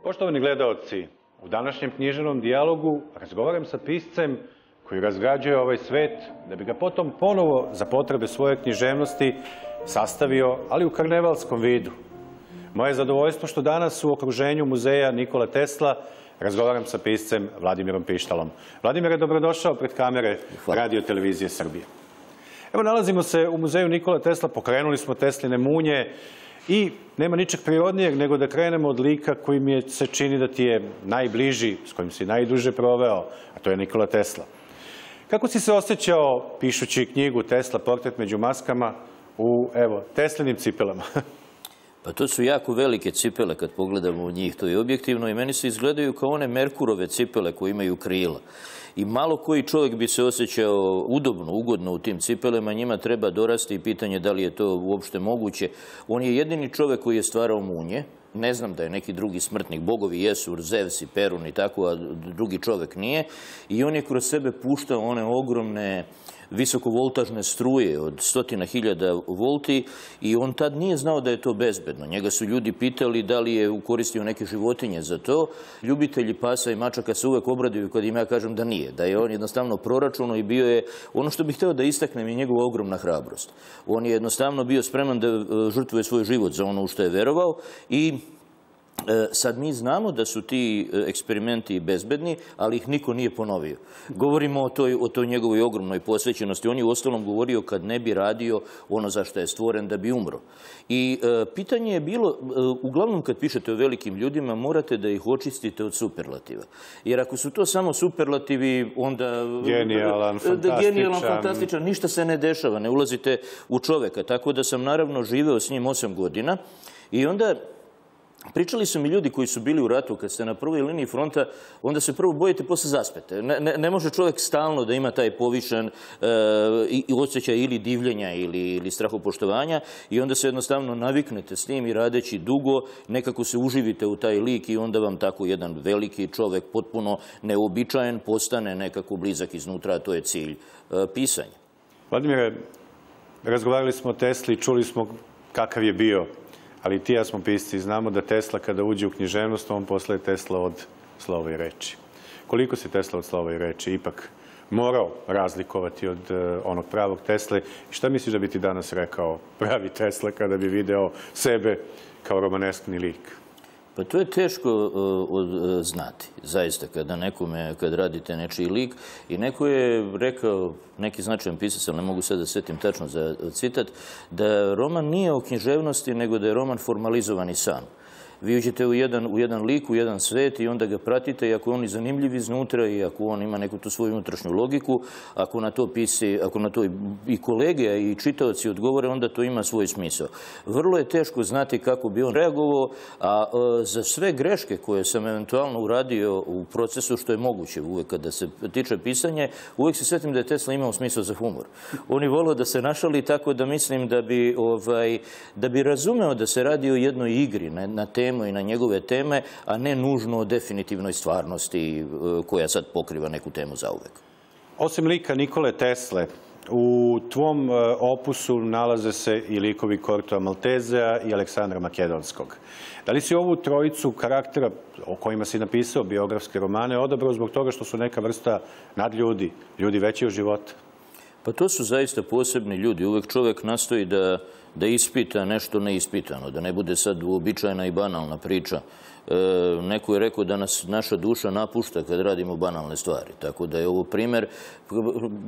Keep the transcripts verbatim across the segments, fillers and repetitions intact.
Poštovani gledaoci, u današnjem književnom dijalogu razgovaram sa piscem koji razgrađuje ovaj svet da bi ga potom ponovo za potrebe svoje književnosti sastavio, ali u karnevalskom vidu. Moje zadovoljstvo što danas u okruženju muzeja Nikola Tesla razgovaram sa piscem Vladimirom Pištalom. Vladimire, dobrodošao pred kamere Radio Televizije Srbije. Evo, nalazimo se u muzeju Nikola Tesla, pokrenuli smo Tesline munje i nema ničeg prirodnijeg nego da krenemo od lika koji mi se čini da ti je najbliži, s kojim si najduže proveo, a to je Nikola Tesla. Kako si se osjećao pišući knjigu Tesla, portret među maskama, u, evo, Teslinim cipelama? Pa to su jako velike cipele kad pogledamo u njih, to je objektivno i meni se izgledaju kao one Merkurove cipele koje imaju krila. I malo koji čovjek bi se osjećao udobno, ugodno u tim cipelama, njima treba dorasti i pitanje da li je to uopšte moguće. On je jedini čovjek koji je stvarao munje. Ne znam da je neki drugi smrtnik, bogovi jesu, Zevs i Perun i tako, a drugi čovjek nije. I on je kroz sebe puštao one ogromne visokovoltažne struje od stotina hiljada volti i on tad nije znao da je to bezbedno. Njega su ljudi pitali da li je koristio neke životinje za to. Ljubitelji pasa i mačaka se uvek obraduju kad im ja kažem da nije, da je on jednostavno proračuno i bio je, ono što bih hteo da istaknem je njegova ogromna hrabrost. On je jednostavno bio spreman da žrtvuje svoj život za ono u što je verovao i sad mi znamo da su ti eksperimenti bezbedni, ali ih niko nije ponovio. Govorimo o toj, o toj njegovoj ogromnoj posvećenosti. On je u ostalom govorio kad ne bi radio ono za što je stvoren da bi umro. I e, pitanje je bilo, e, uglavnom kad pišete o velikim ljudima, morate da ih očistite od superlativa. Jer ako su to samo superlativi, onda... Genijalan, fantastičan. Genijalan, fantastičan, ništa se ne dešava, ne ulazite u čoveka. Tako da sam naravno živeo s njim osam godina i onda... Pričali su mi ljudi koji su bili u ratu, kad ste na prvoj liniji fronta, onda se prvo bojite, posle zaspete. Ne, ne, ne može čovjek stalno da ima taj povišan e, osjećaj ili divljenja ili, ili strahopoštovanja i onda se jednostavno naviknete s njim i radeći dugo, nekako se uživite u taj lik i onda vam tako jedan veliki čovjek, potpuno neobičajen, postane nekako blizak iznutra, a to je cilj e, pisanja. Vladimire, razgovarali smo o Tesli, čuli smo kakav je bio. Ali ti ja smo pisci i znamo da Tesla kada uđe u književnost, on postaje Tesla od slova i reči. Koliko si Tesla od slova i reči ipak morao razlikovati od onog pravog Tesle? I šta misliš da bi ti danas rekao pravi Tesla kada bi video sebe kao romaneskni lik? Pa to je teško uh, znati, zaista, kada nekome, kad radite nečiji lik. I neko je rekao, neki značajan pisac, ali ne mogu sad da setim tačno za citat, da roman nije o književnosti, nego da je roman formalizovani san. Vi uđete u jedan, u jedan lik, u jedan svet i onda ga pratite i ako on je zanimljiv iznutra i ako on ima neku tu svoju unutrašnju logiku, ako na to pisi, ako na to i kolege i čitaoci odgovore, onda to ima svoj smisao. Vrlo je teško znati kako bi on reagovao, a e, za sve greške koje sam eventualno uradio u procesu, što je moguće uvek kada se tiče pisanje, uvek se svetim da je Tesla imao smisao za humor. On je volio da se našali, tako da mislim da bi, ovaj, da bi razumeo da se radi o jednoj igri na, na temu i na njegove teme, a ne nužno o definitivnoj stvarnosti koja sad pokriva neku temu zauvek. Osim lika Nikole Tesle, u tvom opusu nalaze se i likovi Kortoa Maltezea i Aleksandra Makedonskog. Da li si ovu trojicu karaktera o kojima si napisao biografske romane odabrao zbog toga što su neka vrsta nadljudi, ljudi veći od života? Pa to su zaista posebni ljudi. Uvek čovjek nastoji da, da ispita nešto neispitano, da ne bude sad uobičajena i banalna priča. E, neko je rekao da nas naša duša napušta kad radimo banalne stvari. Tako da je ovo primjer.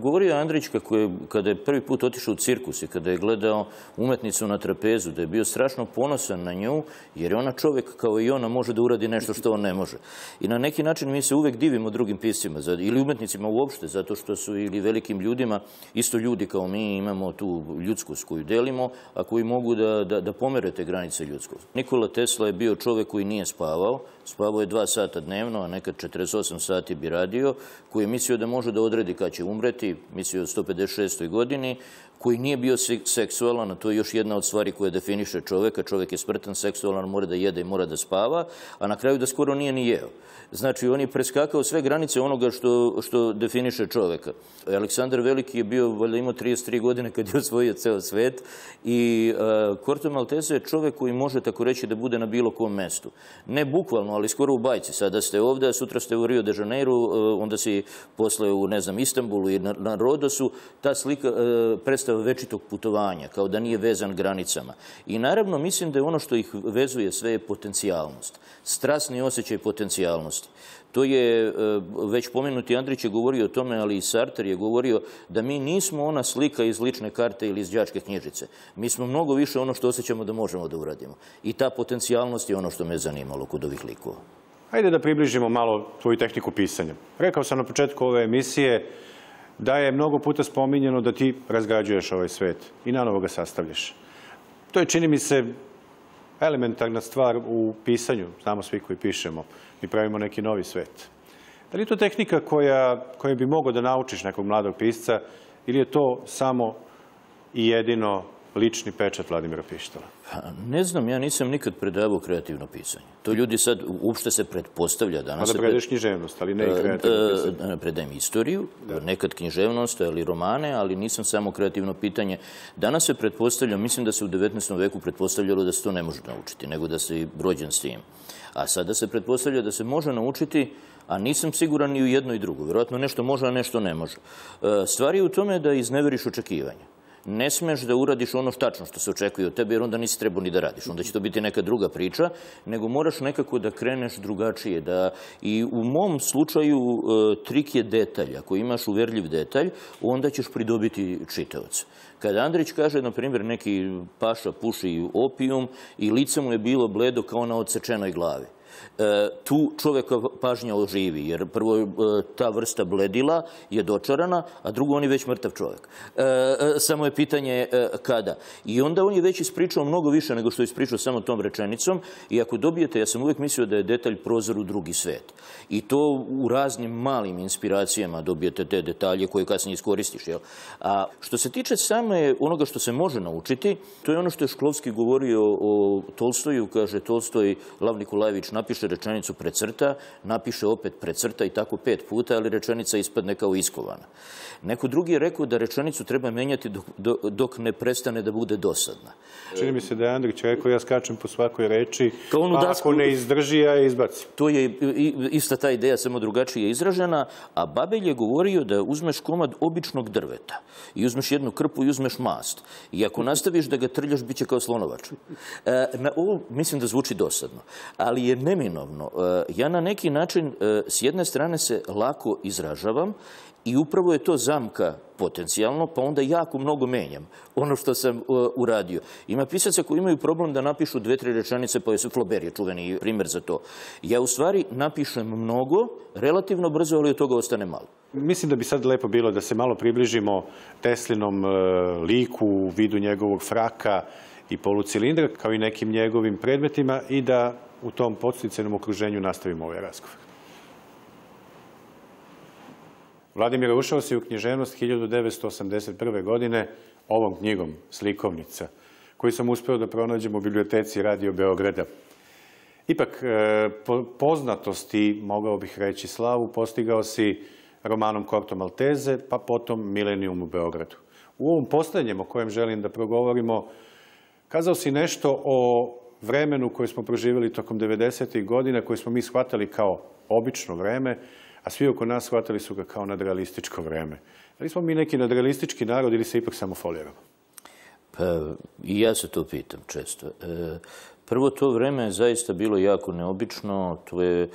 Govorio Andrić kako je, kada je prvi put otišao u cirkus i kada je gledao umetnicu na trapezu, da je bio strašno ponosan na nju, jer je ona čovjek kao i ona može da uradi nešto što on ne može. I na neki način mi se uvek divimo drugim piscima ili umetnicima uopšte, zato što su ili velikim ljudima, isto ljudi kao mi, imamo tu ljudskost koju delimo, a koji mogu da, da, da pomere te granice ljudskosti. Nikola Tesla je bio čovjek koji nije spavao. Spavao je dva sata dnevno, a nekad četrdeset osam sati bi radio, koji je mislio da može da odredi kad će umreti, mislio o sto pedeset šestoj godini, koji nije bio seksualan, a to je još jedna od stvari koja definiše čoveka. Čovek je smrtan, seksualan, mora da jede i mora da spava, a na kraju da skoro nije ni jeo. Znači, on je preskakao sve granice onoga što, što definiše čoveka. Aleksandar Veliki je bio, valjda imao trideset tri godine kad je osvojio ceo svet i uh, Corto Maltese je čovek koji može tako reći da bude na bilo kom mestu. Ne bukvalno, ali skoro u bajci. Sada ste ovde, a sutra ste u Rio de Janeiro, uh, onda si posle u, ne znam, Istanbulu i na, na Rodosu. Ta slika uh, predstava večitog putovanja, kao da nije vezan granicama. I naravno, mislim da je ono što ih vezuje sve je potencijalnost. Strasni osjećaj potencijalnosti. To je, već pomenuti Andrić je govorio o tome, ali i Sartre je govorio da mi nismo ona slika iz lične karte ili iz đačke knjižice. Mi smo mnogo više ono što osjećamo da možemo da uradimo. I ta potencijalnost je ono što me zanimalo kod ovih likova. Hajde da približimo malo tvoju tehniku pisanja. Rekao sam na početku ove emisije da je mnogo puta spominjeno da ti razgrađuješ ovaj svet i nanovo ga sastavljaš. To je, čini mi se, elementarna stvar u pisanju. Znamo svi koji pišemo. Mi pravimo neki novi svet. Da li je to tehnika koja, koja bi mogao da naučiš nekog mladog pisca ili je to samo i jedino lični pečat Vladimira Pištala? Ne znam, ja nisam nikad predavao kreativno pisanje. To ljudi sad uopšte se pretpostavlja. A da predaješ književnost, ali ne i kreativno pisanje. Predajem istoriju, nekad književnost, ali romane, ali nisam samo kreativno pitanje. Danas se pretpostavlja, mislim da se u devetnaestom veku pretpostavljalo da se to ne može naučiti, nego da se rođen s tim. A sada se pretpostavlja da se može naučiti, a nisam siguran ni u jedno i drugo. Vjerojatno nešto može, a nešto ne može. Stvar je u tome da izneveriš očekivanja. Ne smeš da uradiš ono tačno što se očekuje od tebe, jer onda nisi trebao ni da radiš. Onda će to biti neka druga priča, nego moraš nekako da kreneš drugačije. Da... I u mom slučaju trik je detalj. Ako imaš uverljiv detalj, onda ćeš pridobiti čitaoca. Kada Andrić kaže, na primjer, neki paša puši opijum i lice mu je bilo bledo kao na odsečenoj glavi. Tu čoveka pažnja oživi, jer prvo ta vrsta bledila je dočarana, a drugo on je već mrtav čovjek. Samo je pitanje kada. I onda on je već ispričao mnogo više nego što je ispričao samo tom rečenicom i ako dobijete, ja sam uvijek mislio da je detalj prozor u drugi svet. I to u raznim malim inspiracijama dobijete te detalje koje kasnije iskoristiš. Jel? A što se tiče same onoga što se može naučiti, to je ono što je Šklovski govorio o Tolstoju, kaže Tolstoj, Lav Nikolajević napiše rečenicu precrta, napiše opet precrta i tako pet puta, ali rečenica ispadne kao iskovana. Neko drugi je rekao da rečenicu treba menjati dok, dok ne prestane da bude dosadna. Čini mi se da je Andrić rekao, ja skačem po svakoj reči, pa ako ne izdrži, ja je izbacim. To je ista ta ideja, samo drugačije izražena, a Babelj je govorio da uzmeš komad običnog drveta i uzmeš jednu krpu i uzmeš mast. I ako nastaviš da ga trljaš, bit će kao slonovač. Na ovo mislim da zvuči dosadno, ali je neminovno. Ja na neki način s jedne strane se lako izražavam i upravo je to zamka potencijalno, pa onda jako mnogo menjam ono što sam uradio. Ima pisaca koji imaju problem da napišu dve, tri rečenice, pa je Flaubert je čuveni primjer za to. Ja u stvari napišem mnogo, relativno brzo, ali od toga ostane malo. Mislim da bi sad lepo bilo da se malo približimo Teslinom liku u vidu njegovog fraka i polucilindra, kao i nekim njegovim predmetima i da u tom podsticajnom okruženju nastavimo ovaj razgovor. Vladimir ušao si u književnost hiljadu devetsto osamdeset prve. godine ovom knjigom Slikovnica, koju sam uspeo da pronađem u biblioteci Radio Beograda. Ipak, poznatost i, mogao bih reći, slavu postigao si romanom Corto Maltese, pa potom Milenijum u Beogradu. U ovom poslednjem o kojem želim da progovorimo, kazao si nešto o vremenu koje smo proživjeli tokom devedesetih godina, koje smo mi shvatali kao obično vreme, a svi oko nas shvatali su ga kao nadrealističko vreme. Da li smo mi neki nadrealistički narod ili se ipak samo foliramo? Pa, i ja se to pitam često. Prvo, to vreme je zaista bilo jako neobično. To je,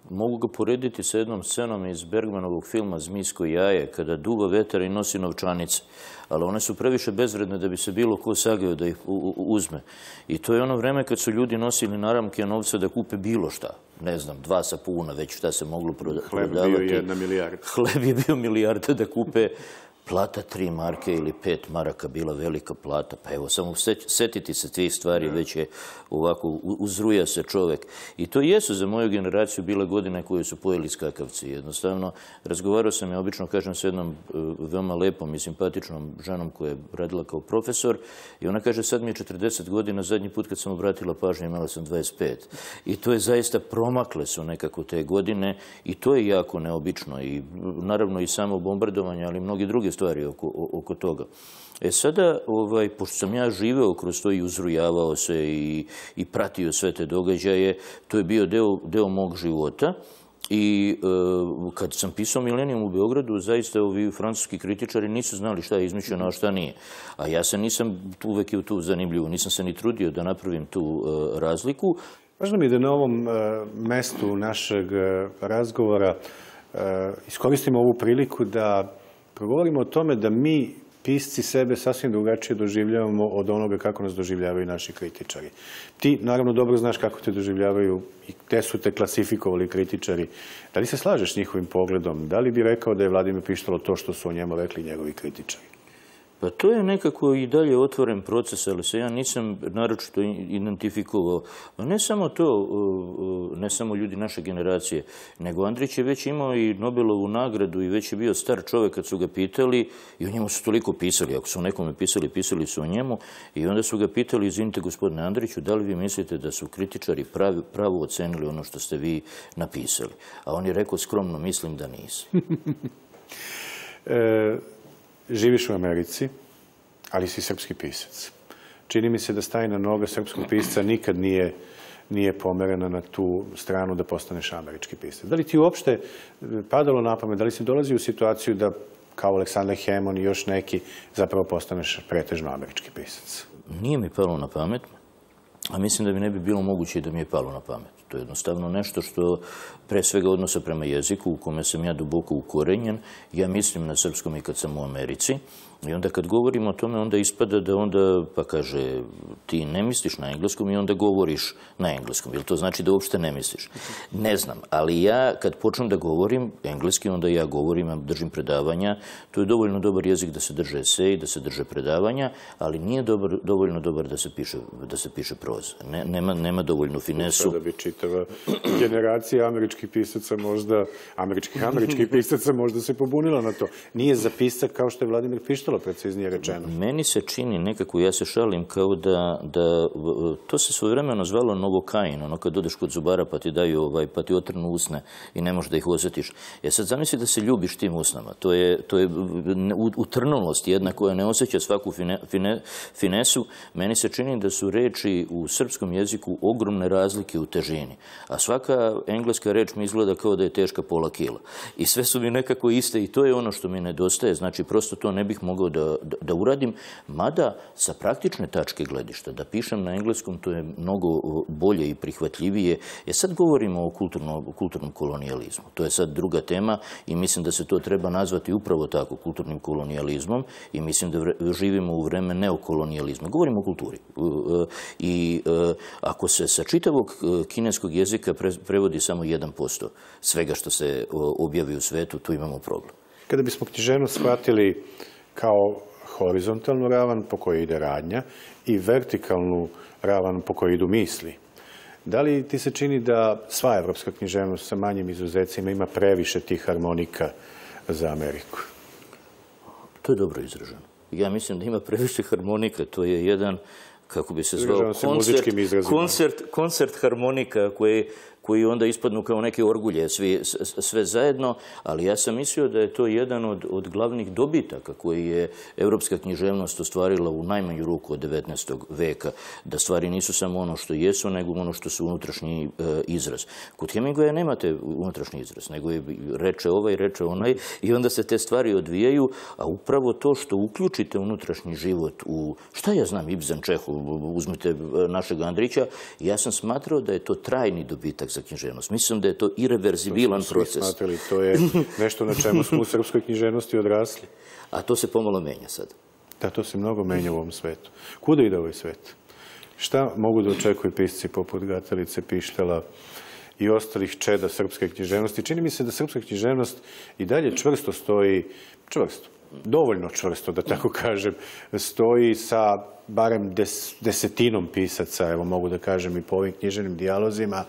mogu ga porediti sa jednom scenom iz Bergmanovog filma Zmijsko jaje, kada duva vetar i nosi novčanice. Ali one su previše bezvredne da bi se bilo ko sageo da ih uzme. I to je ono vreme kad su ljudi nosili naramke novca da kupe bilo šta. Ne znam, dva sapuna, već šta se moglo prodavati. Hleb bio jedna milijarda. Hleb je bio milijarda da kupe plata tri marke ili pet maraka bila velika plata. Pa evo, samo setiti se tih stvari, već je ovako, uzruja se čovek. I to jesu za moju generaciju bile godine koje su pojeli skakavci. Jednostavno, razgovarao sam, ja obično kažem s jednom veoma lepom i simpatičnom ženom koja je radila kao profesor i ona kaže, sad mi je četrdeset godina, zadnji put kad sam obratila pažnju imala sam dvadeset pet. I to je zaista, promakle su nekako te godine i to je jako neobično. I naravno i samo bombardovanje, ali mnogi druge stvari oko, oko toga. E sada, ovaj, pošto sam ja živeo kroz to i uzrujavao se i, i pratio sve te događaje, to je bio deo, deo mog života. I e, kad sam pisao Milenijum u Beogradu, zaista ovi francuski kritičari nisu znali šta je izmišljeno, a šta nije. A ja se nisam uvek i tu zanimljivo, nisam se ni trudio da napravim tu e, razliku. Važno mi je da na ovom e, mestu našeg e, razgovora e, iskoristimo ovu priliku da progovorimo o tome da mi, pisci, sebe sasvim drugačije doživljavamo od onoga kako nas doživljavaju naši kritičari. Ti, naravno, dobro znaš kako te doživljavaju i gde su te klasifikovali kritičari. Da li se slažeš s njihovim pogledom? Da li bi rekao da je Vladimir Pištalo to što su o njemu rekli njegovi kritičari? Pa to je nekako i dalje otvoren proces, ali se ja nisam naročito identifikovao. Ne samo to, ne samo ljudi naše generacije, nego Andrić je već imao i Nobelovu nagradu i već je bio star čovek kad su ga pitali i o njemu su toliko pisali. Ako su o nekome pisali, pisali su o njemu i onda su ga pitali, izvinite gospodine Andriću, da li vi mislite da su kritičari pravi, pravo ocenili ono što ste vi napisali? A on je rekao skromno, mislim da nisu. e... Živiš u Americi, ali si srpski pisac. Čini mi se da stajna noga srpskog pisca nikad nije, nije pomerena na tu stranu da postaneš američki pisac. Da li ti uopšte padalo na pamet, da li si dolazi u situaciju da, kao Aleksandar Hemon i još neki, zapravo postaneš pretežno američki pisac? Nije mi palo na pamet, a mislim da mi ne bi bilo moguće da mi je palo na pamet. To je jednostavno nešto što pre svega odnosa prema jeziku u kome sam ja duboko ukorenjen. Ja mislim na srpskom i kad sam u Americi. I onda kad govorim o tome, onda ispada da onda, pa kaže, ti ne misliš na engleskom i onda govoriš na engleskom. Jel to znači da uopšte ne misliš? Ne znam, ali ja kad počnem da govorim engleski, onda ja govorim, držim predavanja. To je dovoljno dobar jezik da se drže esej, da se drže predavanja, ali nije dobar, dovoljno dobar da se piše, da se piše proza. Ne, nema, nema dovoljnu finesu. Da bi čitava generacija američkih pisaca možda, američkih američkih pisaca možda se pobunila na to. Nije za pisak kao što je Vladimir Pištalo, preciznije rečeno. Meni se čini nekako, ja se šalim kao da, da to se svojevremeno zvalo novokain, ono kad odeš kod zubara pa ti daju ovaj, pa ti otrnu usne i ne možeš da ih osjetiš. Ja sad zamisli da se ljubiš tim usnama. To je, to je utrnulost jedna koja ne osjeća svaku fine, fine, finesu. Meni se čini da su reči u srpskom jeziku ogromne razlike u težini. A svaka engleska reč mi izgleda kao da je teška pola kila. I sve su mi nekako iste i to je ono što mi nedostaje. Znači, prosto to ne bih mogao da, da, da uradim. Mada, sa praktične tačke gledišta, da pišem na engleskom, to je mnogo bolje i prihvatljivije. E sad govorimo o kulturno, kulturnom kolonijalizmu. To je sad druga tema i mislim da se to treba nazvati upravo tako, kulturnim kolonijalizmom i mislim da vre, živimo u vreme neokolonijalizma. Govorimo o kulturi. I ako se sa čitavog kineskog jezika prevodi samo jedan posto svega što se objavi u svetu, tu imamo problem. Kada bismo književnost shvatili kao horizontalnu ravan po kojoj ide radnja i vertikalnu ravan po kojoj idu misli, da li ti se čini da sva evropska književnost sa manjim izuzecima ima previše tih harmonika za Ameriku? To je dobro izraženo. Ja mislim da ima previše harmonika. To je jedan, kako bi se zvao, koncert, koncert, koncert harmonika koji, koji onda ispadnu kao neke orgulje, svi, sve zajedno, ali ja sam mislio da je to jedan od, od glavnih dobitaka koji je evropska književnost ostvarila u najmanju ruku od devetnaestog veka, da stvari nisu samo ono što jesu, nego ono što su unutrašnji e, izraz. Kod Hemingwaya nemate unutrašnji izraz, nego je reče ovaj, reče onaj i onda se te stvari odvijaju, a upravo to što uključite unutrašnji život u, šta ja znam, Ibsen, Čehov, uzmite našeg Andrića, ja sam smatrao da je to trajni dobitak za književnost. Mislim da je to irreverzibilan proces. To smo svi smatrali, to je nešto na čemu smo u srpskoj književnosti odrasli. A to se pomalo menja sad. Da, to se mnogo menja u ovom svetu. Kuda ide ovaj svet? Šta mogu da očekuju pisci poput Gatalice, Pištala i ostalih čeda srpske književnosti. Čini mi se da srpska književnost i dalje čvrsto stoji, čvrsto, dovoljno čvrsto, da tako kažem, stoji sa barem des, desetinom pisaca, evo mogu da kažem i po ovim književnim dijalozima,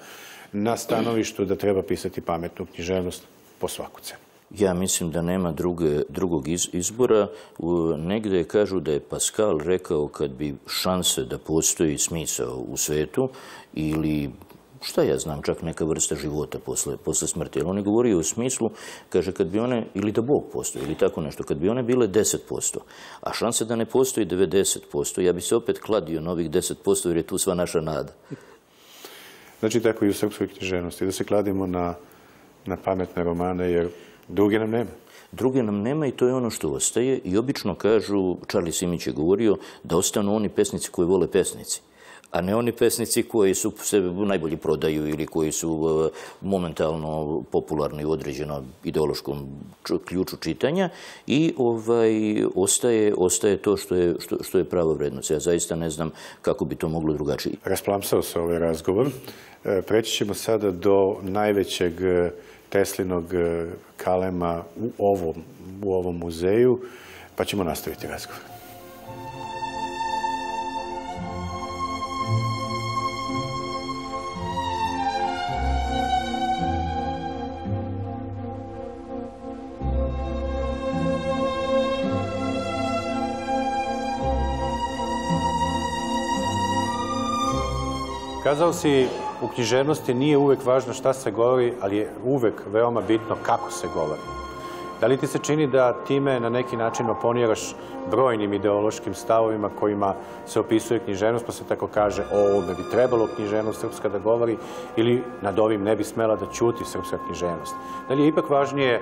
na stanovištu da treba pisati pametnu književnost po svaku cenu. Ja mislim da nema druge, drugog iz, izbora. U, negde kažu da je Pascal rekao kad bi šanse da postoji smisao u svetu ili šta ja znam, čak neka vrsta života posle, posle smrti. Jer on je govorio u smislu, kaže, kad bi one, ili da Bog postoji, ili tako nešto, kad bi one bile deset posto, a šanse da ne postoji devedeset posto, ja bi se opet kladio na ovih deset posto jer je tu sva naša nada. Znači tako i u srpskoj književnosti, da se kladimo na, na pametne romane, jer druge nam nema. Druge nam nema i to je ono što ostaje. I obično kažu, Charlie Simić je govorio, da ostanu oni pesnici koji vole pesnici, a ne oni pesnici koji su se najbolje prodaju ili koji su momentalno popularni u određenom ideološkom ključu čitanja i ovaj, ostaje, ostaje to što je, što, što je prava vrednost. Ja zaista ne znam kako bi to moglo drugačije. Rasplamsao se ovaj razgovor. Preći ćemo sada do najvećeg Teslinog kalema u ovom, u ovom muzeju, pa ćemo nastaviti razgovor. Kazao si, u književnosti nije uvek važno šta se govori, ali je uvek veoma bitno kako se govori. Da li ti se čini da time na neki način oponiraš brojnim ideološkim stavovima kojima se opisuje književnost, pa se tako kaže o ovome bi trebalo književnost srpska da govori ili nad ovim ne bi smela da ćuti srpska književnost? Da li je ipak važnije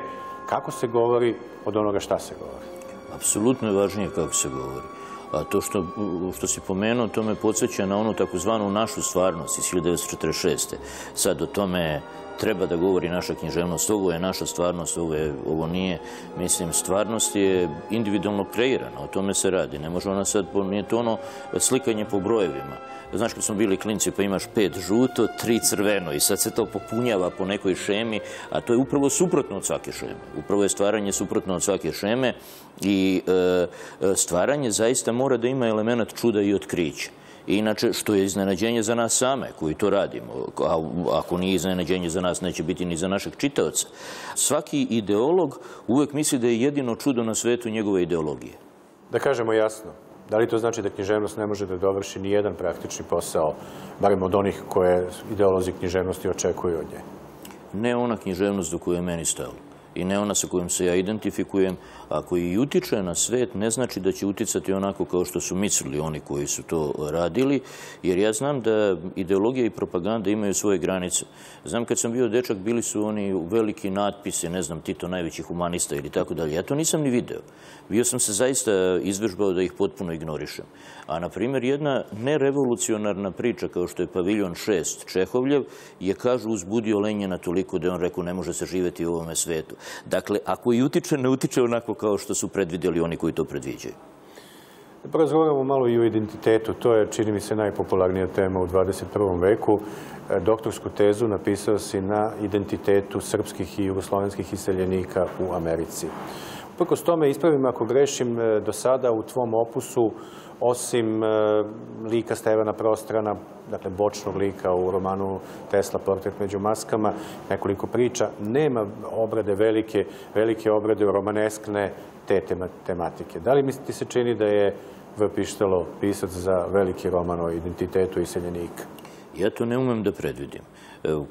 kako se govori od onoga šta se govori? Apsolutno je važnije kako se govori. A to što, što si pomenuo, to me podsjeća na onu takozvanu našu stvarnost iz hiljadu devetsto četrdeset šeste. Sad o tome treba da govori naša književnost. Ovo je naša stvarnost, ovo, je, ovo nije. Mislim, stvarnost je individualno kreirana, o tome se radi. Ne može ona sad, nije to ono slikanje po brojevima. Znaš, kad smo bili klinci pa imaš pet žuto, tri crveno i sad se to popunjava po nekoj šemi, a to je upravo suprotno od svake šeme. Upravo je stvaranje suprotno od svake šeme i e, stvaranje zaista mora da ima element čuda i otkrića. Inače, što je iznenađenje za nas same, koji to radimo. A ako nije iznenađenje za nas, neće biti ni za našeg čitaoca. Svaki ideolog uvek misli da je jedino čudo na svetu njegove ideologije. Da kažemo jasno, da li to znači da književnost ne može da dovrši ni jedan praktični posao, barem od onih koje ideolozi književnosti očekuju od nje? Ne ona književnost do koje je meni stalo. I ne ona sa kojom se ja identifikujem. Ako i utiče na svet, ne znači da će uticati onako kao što su mislili oni koji su to radili, jer ja znam da ideologija i propaganda imaju svoje granice. Znam, kad sam bio dečak, bili su oni veliki natpisi, ne znam, Tito najveći humanista ili tako dalje. Ja to nisam ni video. Bio sam se zaista izvežbao da ih potpuno ignorišem. A, na primjer, jedna nerevolucionarna priča kao što je Paviljon šest Čehovljev je, kažu, uzbudio Lenjina toliko da je on rekao ne može se živjeti u ovome svetu. Dakle, ako i utiče, ne utiče onako kao što su predvidjeli oni koji to predviđaju. Porazgovaramo malo i o identitetu. To je, čini mi se, najpopularnija tema u dvadeset prvom veku. Doktorsku tezu napisao si na identitetu srpskih i jugoslovenskih iseljenika u Americi. Uprkos tome, ispravim ako grešim, do sada u tvom opusu, osim lika Stevana Prostrana, dakle bočnog lika u romanu Tesla, Portret među maskama, nekoliko priča, nema obrade velike, velike obrade romaneskne te tematike. Da li ti se čini da je V. Pištalo pisac za veliki roman o identitetu iseljenika? Ja to ne umem da predvidim.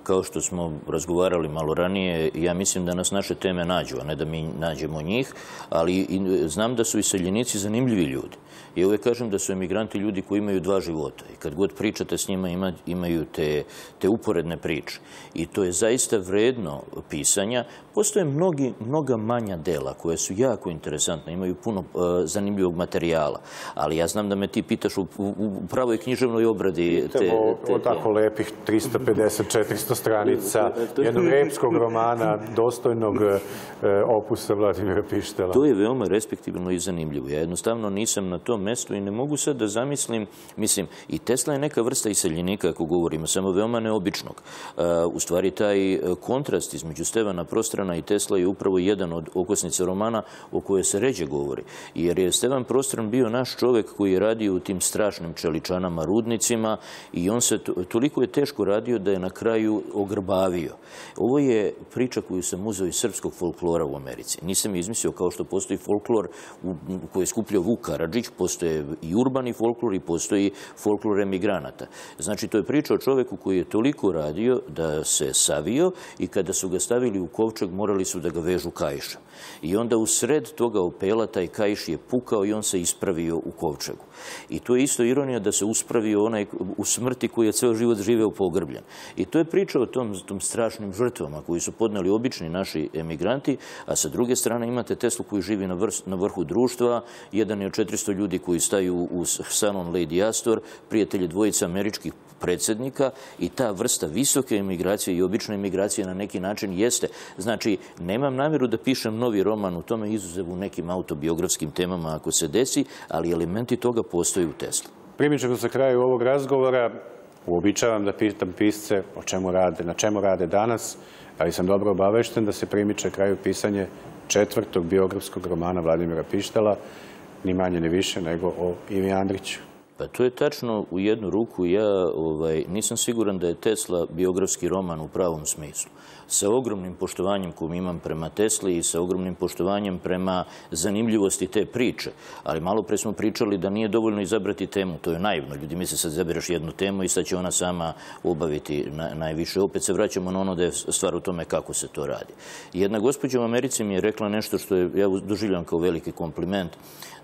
Kao što smo razgovarali malo ranije, ja mislim da nas naše teme nađu, a ne da mi nađemo njih, ali znam da su iseljenici zanimljivi ljudi. Ja uvek kažem da su emigranti ljudi koji imaju dva života i kad god pričate s njima imaju te, te uporedne priče. I to je zaista vredno pisanja. Postoje mnogi, mnoga manja dela koje su jako interesantne, imaju puno uh, zanimljivog materijala, ali ja znam da me ti pitaš u, u, u pravoj književnoj obradi. Te, te, o, o tako lepih trista pedeset četiristo stranica jednog epskog romana, dostojnog opusa Vladimira Pištela. To je veoma respektibilno i zanimljivo. Ja jednostavno nisam na tom mestu i ne mogu sad da zamislim, mislim, i Tesla je neka vrsta iseljenika, ako govorimo, samo veoma neobičnog. U stvari, taj kontrast između Stevana Prostrana i Tesla je upravo jedan od okosnica romana o kojoj se ređe govori. Jer je Stevan Prostran bio naš čovek koji je radio u tim strašnim čeličanama, rudnicima, i on se toliko je teško radio da je na kraju ogrbavio. Ovo je priča koju sam uzeo iz srpskog folklora u Americi. Nisam izmislio, kao što postoji folklor koji je skupljao Vuk Karadžić, postoje i urbani folklor i postoji folklor emigranata. Znači, to je priča o čoveku koji je toliko radio da se savio i kada su ga stavili u kovčeg morali su da ga vežu kaišem. I onda u sred toga opela taj kaiš je pukao i on se ispravio u kovčegu. I to je isto ironija da se uspravio onaj u smrti koji je ceo život živeo pogrbljen. I to je priča o tom, tom strašnim žrtvama koji su podneli obični naši emigranti, a sa druge strane imate Teslu koji živi na, vrh, na vrhu društva, jedan je od četiristo ljudi koji staju u salon Lady Astor, prijatelji dvojica američkih predsjednika, i ta vrsta visoke emigracije i obične emigracije na neki način jeste. Znači, nemam namjeru da pišem novi roman u tome, izuzev u nekim autobiografskim temama ako se desi, ali elementi toga postoji u Tesli. Primičemo se kraju ovog razgovora. Uobičavam da pitam pisce o čemu rade, na čemu rade danas, ali sam dobro obavešten da se primiče kraju pisanje četvrtog biografskog romana Vladimira Pištela, ni manje ni više nego o Ivi Andriću. Pa to je tačno u jednu ruku. Ja ovaj, nisam siguran da je Tesla biografski roman u pravom smislu. Sa ogromnim poštovanjem kojim imam prema Tesli i sa ogromnim poštovanjem prema zanimljivosti te priče. Ali malo pre smo pričali da nije dovoljno izabrati temu. To je naivno. Ljudi misle sad izabereš jednu temu i sad će ona sama obaviti na, najviše. Opet se vraćamo na ono da je stvar u tome kako se to radi. Jedna gospođa u Americi mi je rekla nešto što je, ja doživljam kao veliki kompliment,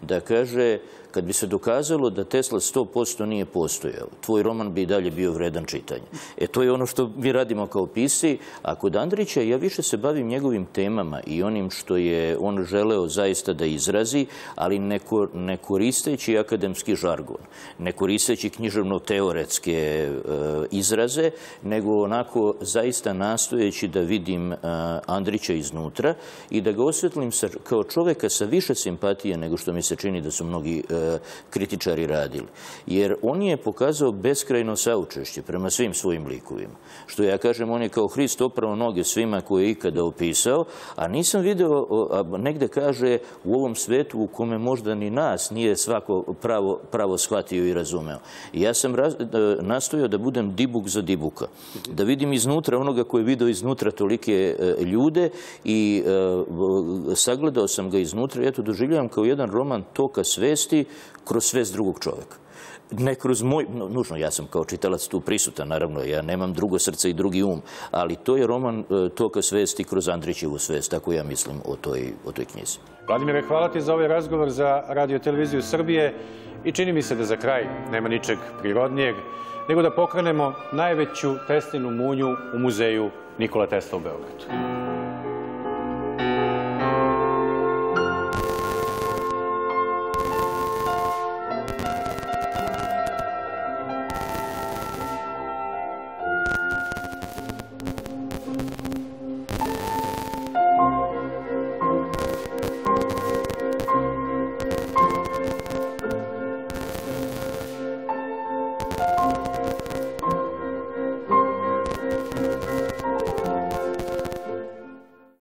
da kaže, kad bi se dokazalo da Tesla sto posto nije postojao, tvoj roman bi i dalje bio vredan čitanja. E, to je ono što mi radimo kao pisci. A kod Andrića ja više se bavim njegovim temama i onim što je on želeo zaista da izrazi, ali ne, ne koristeći akademski žargon, ne koristeći književno-teoretske e, izraze, nego onako zaista nastojeći da vidim e, Andrića iznutra i da ga osvetlim sa, kao čoveka sa više simpatije nego što mi se čini da su mnogi e, kritičari radili. Jer on je pokazao beskrajno saučešće prema svim svojim likovima. Što ja kažem, on je kao Hrist oprao noge svima koje je ikada opisao, a nisam video, a negde kaže, u ovom svetu u kome možda ni nas nije svako pravo, pravo shvatio i razumeo. I ja sam raz, nastojao da budem dibuk za dibuka. Da vidim iznutra onoga koji je video iznutra tolike e, ljude i e, sagledao sam ga iznutra i eto doživljavam kao jedan roman toka svesti kroz svest drugog čoveka. Ne kroz moj, no, nužno, ja sam kao čitalac tu prisutan, naravno, ja nemam drugo srce i drugi um, ali to je roman e, toka svesti kroz Andrićevu svest, tako ja mislim o toj, o toj knjizi. Vladimire, hvala ti za ovaj razgovor za Radio Televiziju Srbije i čini mi se da za kraj nema ničeg prirodnijeg nego da pokrenemo najveću Teslinu munju u muzeju Nikola Tesla u Beogradu.